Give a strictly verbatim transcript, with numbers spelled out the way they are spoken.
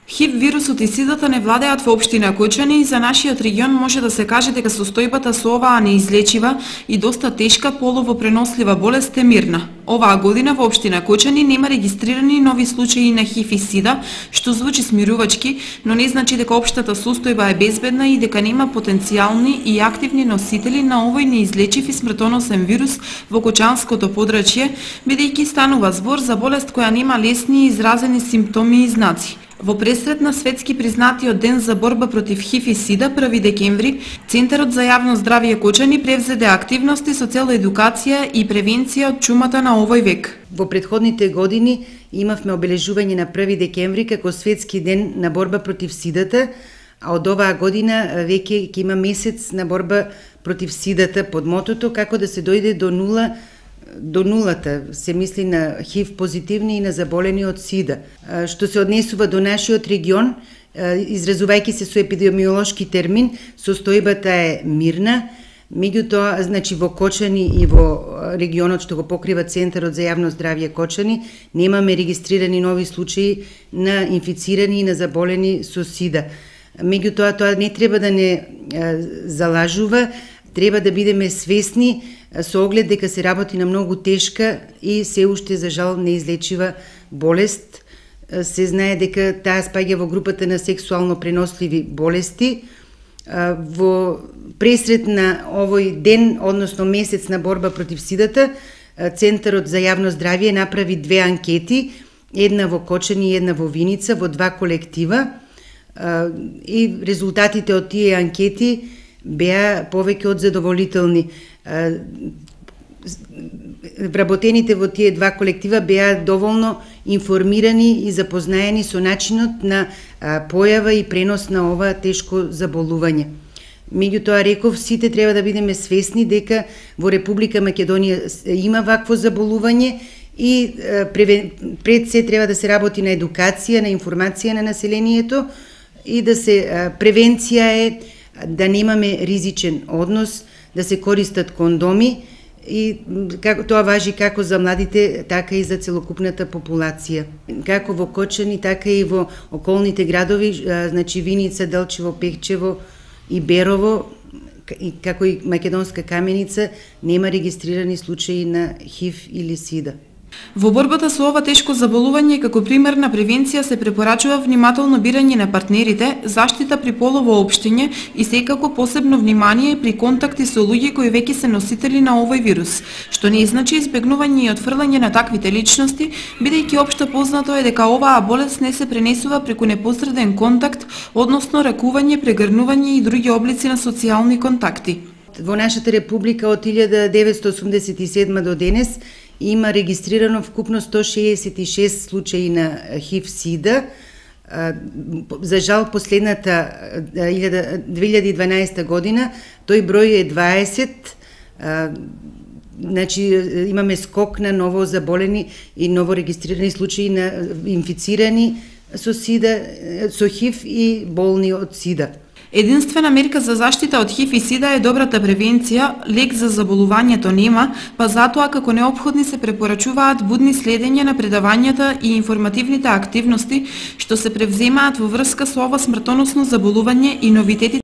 ХИВ вирусот и сидата не владеат во општина Кочани и за нашиот регион може да се каже дека состојбата со оваа неизлечива и доста тешка полово пренослива болест е мирна. Оваа година во општина Кочани нема регистрирани нови случаи на ХИВ и сида, што звучи смирувачки, но не значи дека општата состојба е безбедна и дека нема потенцијални и активни носители на овој неизлечив и смртоносен вирус во Кочанското подрачје, бидејќи станува збор за болест која нема лесни и изразени симптоми и знаци. Во пресрет на светски признатиот ден за борба против ХИВ и сида, први декември, Центарот за јавно здравје Кочани превзеде активности со цел едукација и превенција од чумата на овој век. Во претходните години имавме обележување на први декември како светски ден на борба против сидата, а од оваа година веќе ќе има месец на борба против сидата под мотото како да се дојде до нула до нулата, се мисли на ХИВ позитивни и на заболени од сида. Што се однесува до нашиот регион, изразувајќи се со епидемиолошки термин, состојбата е мирна, меѓутоа, значи во Кочани и во регионот што го покрива Центарот за јавно здравје Кочани, немаме регистрирани нови случаи на инфицирани и на заболени со сида. Меѓутоа, тоа не треба да не залажува, треба да бидеме свесни со оглед дека се работи на многу тешка и се уште за жал неизлечива болест. Се знае дека таа спаѓа во групата на сексуално преносливи болести. Во пресрет на овој ден, односно месец на борба против сидата, Центарот за јавно здравје направи две анкети, една во Кочани и една во Виница, во два колектива, и резултатите од тие анкети беа повеќе од задоволителни. Вработените во тие два колектива беа доволно информирани и запознаени со начинот на појава и пренос на ова тешко заболување. Меѓутоа, реков, сите треба да бидеме свесни дека во Република Македонија има вакво заболување и пред се треба да се работи на едукација, на информација на населението и да се превенција е да немаме ризичен однос, да се користат кондоми и како тоа важи како за младите, така и за целокупната популација. Како во Кочани, така и во околните градови, значи Виница, Делчево, Пехчево и Берово, и како и Македонска Каменица, нема регистрирани случаи на ХИВ или сида. Во борбата со ова тешко заболување, како пример на превенција се препорачува внимателно бирање на партнерите, заштита при полово општење и секако посебно внимание при контакти со луѓе кои веќе се носители на овој вирус, што не значи избегнување и отфрлање на таквите личности, бидејќи општо познато е дека оваа болест не се пренесува преку непосреден контакт, односно ракување, прегрнување и други облици на социјални контакти. Во нашата република од илјада деветстотини осумдесет и седма до денес има регистрирано вкупно сто шеесет и шест случаи на ХИВ-сида. За жал, последната две илјади и дванаесета година тој број е дваесет. Значи, имаме скок на ново заболени и ново регистрирани случаи на инфицирани со сида, со ХИВ и болни од сида. Единствена мерка за заштита од ХИВ и сида е добрата превенција, лек за заболувањето нема, па затоа како неопходни се препорачуваат будни следење на предавањата и информативните активности што се превземаат во врска со ова смртоносно заболување и новитетите